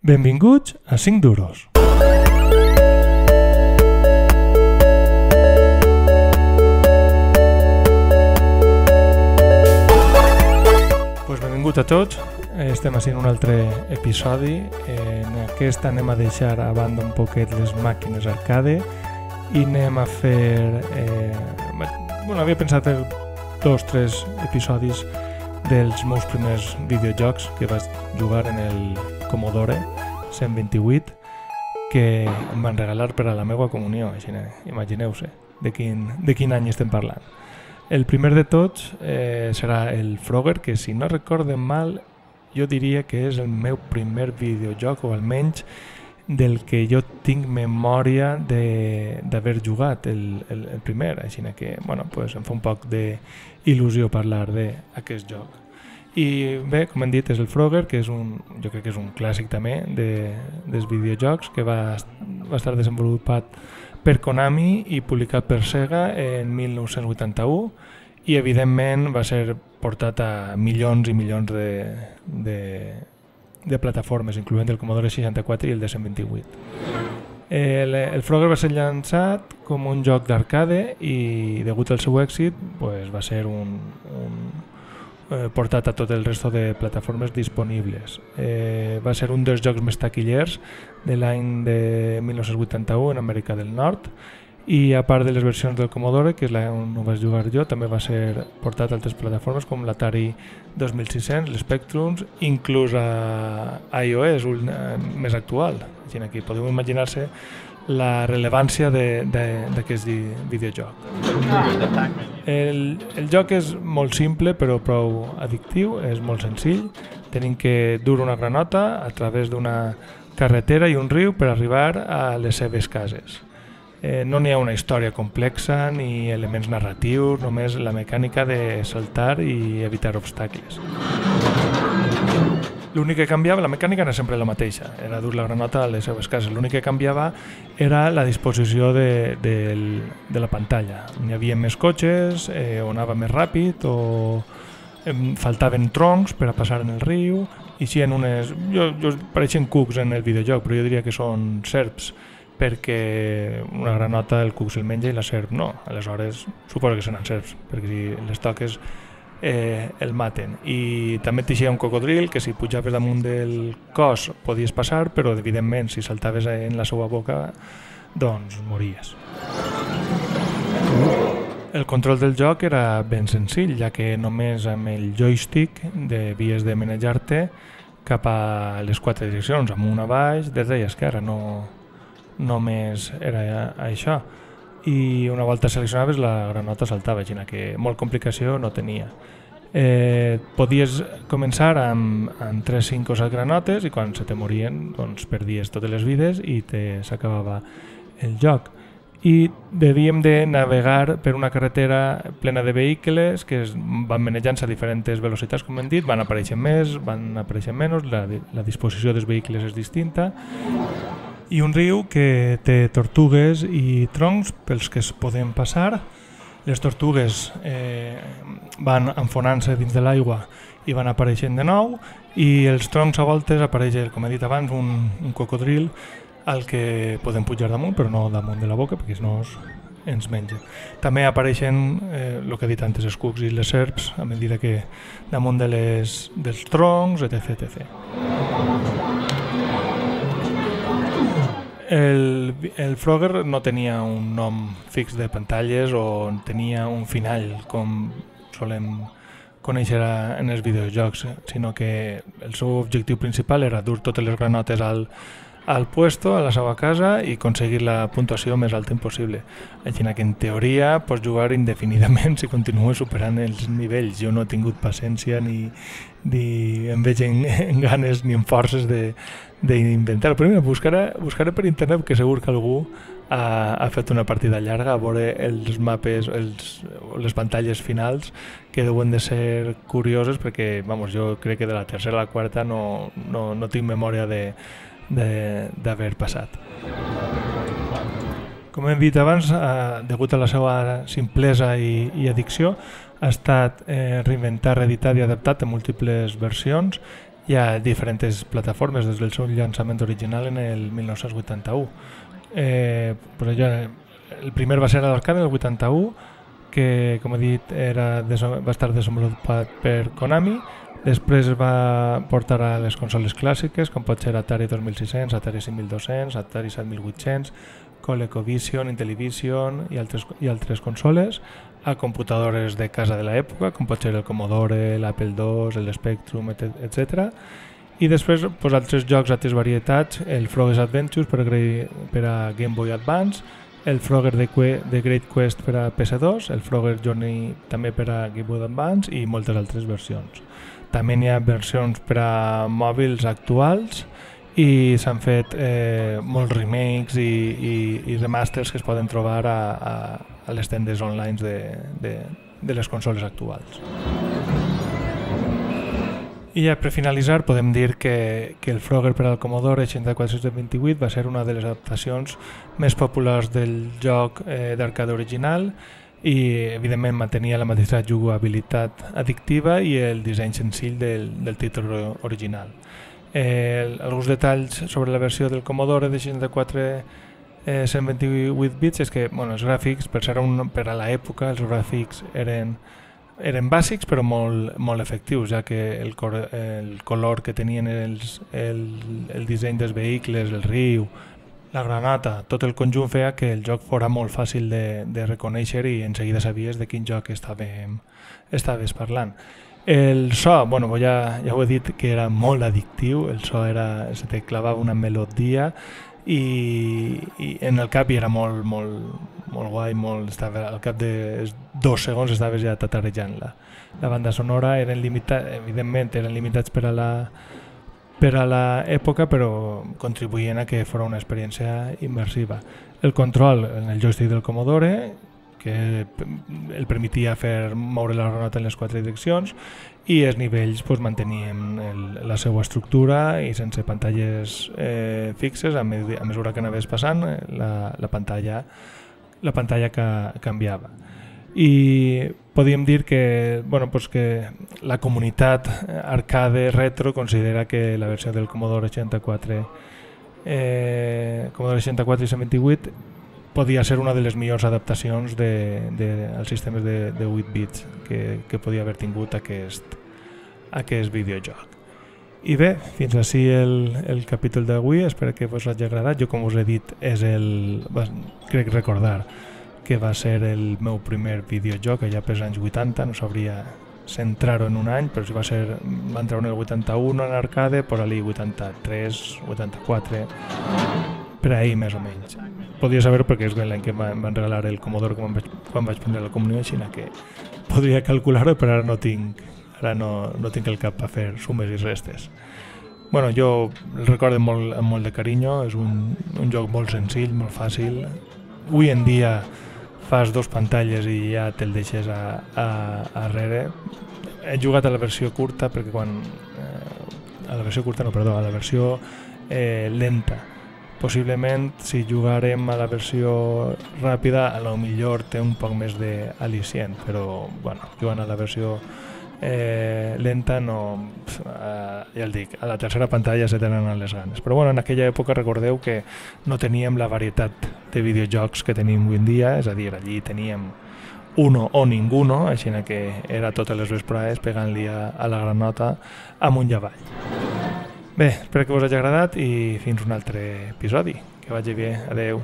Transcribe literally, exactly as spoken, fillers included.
Benvinguts a cinc duros. Pues benvingut a tots. Estem així en un altre episodi. En aquest anem a deixar a banda un poquet les màquines arcade i anem a fer... Eh, bueno, havia pensat fer dos o tres episodis dels meus primers videojocs que vaig jugar en el Commodore cent vint-i-vuit que em van regalar per a la meva comunió, així, imagineu-se de quin, de quin any estem parlant. El primer de tots eh, serà el Frogger, que si no recordem mal jo diria que és el meu primer videojoc, o almenys del que jo tinc memòria d'haver jugat el, el, el primer, així que bueno, pues em fa un poc d'il·lusió parlar d'aquest joc. I bé, com hem dit, és el Frogger, que és un, jo crec que és un clàssic també de, dels videojocs, que va, va estar desenvolupat per Konami i publicat per Sega en mil nou-cents vuitanta-u i evidentment va ser portat a milions i milions de, de, de plataformes, incloent el Commodore seixanta-quatre i el de cent vint-i-vuit. El, el Frogger va ser llançat com un joc d'arcade i degut al seu èxit pues, va ser un, un eh, portat a tot el resto de plataformes disponibles. Eh, va ser un dels jocs més taquillers de l'any de mil nou-cents vuitanta-u en Amèrica del Nord i a part de les versions del Commodore, que és la on ho vaig jugar jo, també va ser portat a altres plataformes com l'Atari dos mil sis-cents, l'Spectrum, inclús a iOS, un, uh, més actual. Així aquí podeu imaginar-se la rellevància d'aquest videojoc. El, el joc és molt simple però prou addictiu, és molt senzill. Tenim que dur una granota a través d'una carretera i un riu per arribar a les seves cases. Eh, no n'hi ha una història complexa ni elements narratius, només la mecànica de saltar i evitar obstacles. L'únic que canviava, la mecànica era sempre la mateixa, era dur la granota a les seves cases. L'únic que canviava era la disposició de, de, de la pantalla. N'hi havia més cotxes, eh, o anava més ràpid, o eh, faltaven troncs per a passar en el riu, i si en unes... Jo, jo pareixen cucs en el videojoc, però jo diria que són serps, perquè una granota el cuc se'l menja i la serp no, aleshores suposo que seran serps, perquè si les toques eh, el maten. I també t'eixia un cocodril que si pujaves damunt del cos podies passar, però evidentment si saltaves en la seva boca doncs mories. El control del joc era ben senzill, ja que només amb el joystick devies de manejar-te cap a les quatre direccions, amunt, a baix, dreta i esquerra, no només era això, i una volta seleccionaves la granota saltava, així que molt complicació no tenia. Eh, podies començar amb, amb tres, cinc o set granotes i quan se te morien doncs, perdies totes les vides i s'acabava el joc. I devíem de navegar per una carretera plena de vehicles que es van manejant a diferents velocitats, com hem dit, van apareixent més, van apareixent menys, la, la disposició dels vehicles és distinta, i un riu que té tortugues i troncs pels que es poden passar. Les tortugues eh, van enfonant-se dins de l'aigua i van apareixent de nou, i els troncs a voltes apareix, com he dit abans, un, un cocodril al que podem pujar damunt, però no damunt de la boca, perquè si no ens menja. També apareixen, eh, el que he dit antes, els cucs i les serps, a mesura que damunt de les, dels troncs, etcètera etcètera. El, el Frogger no tenia un nom fix de pantalles o tenia un final com solem conèixer en els videojocs, sinó que el seu objectiu principal era dur totes les granotes al, al puesto, a la seva casa, i aconseguir la puntuació més alta impossible. Així que en teoria pots jugar indefinidament si continues superant els nivells. Jo no he tingut paciència ni, ni em veig en, en ganes ni en forces de d'inventar. Però mira, buscaré, buscaré per internet, que segur que algú ha, ha fet una partida llarga a veure els mapes, els, les pantalles finals, que deuen de ser curioses, perquè vamos, jo crec que de la tercera a la quarta no, no, no tinc memòria de d'haver passat. Com hem dit abans, eh, degut a la seva simplesa i, i addicció, ha estat eh, reinventat, reeditat i adaptat en múltiples versions hi ha diferents plataformes des del seu llançament original en el mil nou-cents vuitanta-u. Eh, però ja, el primer va ser a l'arcade en el vuitanta-u, que com he dit era, va estar desenvolupat per Konami. Després va portar a les consoles clàssiques, com pot ser Atari dos mil sis-cents, Atari cinc mil dos-cents, Atari set mil vuit-cents, ColecoVision, Intellivision i altres, i altres consoles, a computadores de casa de l'època, com pot ser el Commodore, l'Apple dos, el Spectrum, etcètera. I després pues, altres jocs, altres varietats, el Frogger's Adventures per a, per a Game Boy Advance, el Frogger de, de Great Quest per a P S dos, el Frogger Journey també per a Game Boy Advance i moltes altres versions. També n'hi ha versions per a mòbils actuals i s'han fet eh, molts remakes i, i, i remasters que es poden trobar a, a, a les tendes online de, de, de les consoles actuals. I ja per finalitzar podem dir que, que el Frogger per al Commodore seixanta-quatre sis vint-i-vuit va ser una de les adaptacions més populars del joc eh, d'arcade original i evidentment mantenia la mateixa jugabilitat addictiva i el disseny senzill del, del títol original. Eh, alguns detalls sobre la versió del Commodore de seixanta-quatre eh, cent vint-i-vuit bits és que bueno, els gràfics, per ser un, per a l'època, els gràfics eren, eren bàsics però molt, molt efectius, ja que el, cor, el color que tenien els, el, el disseny dels vehicles, el riu, la granata, tot el conjunt feia que el joc fora molt fàcil de, de reconèixer i en seguida sabies de quin joc estàvem, estaves parlant. El so, bueno, ja, ja ho he dit que era molt addictiu, el so era, se te clavava una melodia i, i en el cap era molt, molt, molt guai, molt, estava, al cap de dos segons estaves ja tatarejant-la. La banda sonora eren limitats, evidentment eren limitats per a la per a l'època, però contribuïen a que fos una experiència immersiva. El control en el joystick del Commodore, que el permetia fer moure la granota en les quatre direccions, i els nivells pues, mantenien el, la seva estructura i sense pantalles eh, fixes, a, med a mesura que anaves passant, la, la pantalla, la pantalla que canviava. I podíem dir que, bueno, pues que la comunitat arcade retro considera que la versió del Commodore seixanta-quatre, eh, Commodore seixanta-quatre i cent vint-i-vuit podia ser una de les millors adaptacions de, de, als sistemes de, de vuit bits que, que podia haver tingut aquest, aquest videojoc. I bé, fins així el, el capítol d'avui, espero que us hagi agradat. Jo, com us he dit, és el, crec recordar que va ser el meu primer videojoc allà pels anys vuitanta, no sabria centrar-ho en un any, però si va ser, va entrar en el vuitanta-u en arcade, per allí vuitanta-tres, vuitanta-quatre, per ahir més o menys. Podria saber perquè és l'any que em van regalar el Commodore quan vaig, quan vaig prendre la comunió, així que podria calcular-ho, però ara no tinc, ara no, no tinc el cap per fer sumes i restes. Bueno, jo el recordo molt, amb molt de carinyo, és un, un joc molt senzill, molt fàcil. Avui en dia fas dos pantalles i ja te'l deixes a, a, a darrere. He jugat a la versió curta perquè quan... Eh, a la versió curta, no, perdó, a la versió eh, lenta. Possiblement, si jugarem a la versió ràpida, a lo millor té un poc més d'al·licient, però, bueno, jugant a la versió eh, lenta, no... Eh, ja el dic, a la tercera pantalla se tenen les ganes. Però, bueno, en aquella època recordeu que no teníem la varietat de videojocs que tenim avui en dia, és a dir, allí teníem uno o ninguno, així que era totes les vesprades pegant-li a, a la granota amunt i avall. Bé, espero que us hagi agradat i fins un altre episodi. Que vagi bé. Adeu.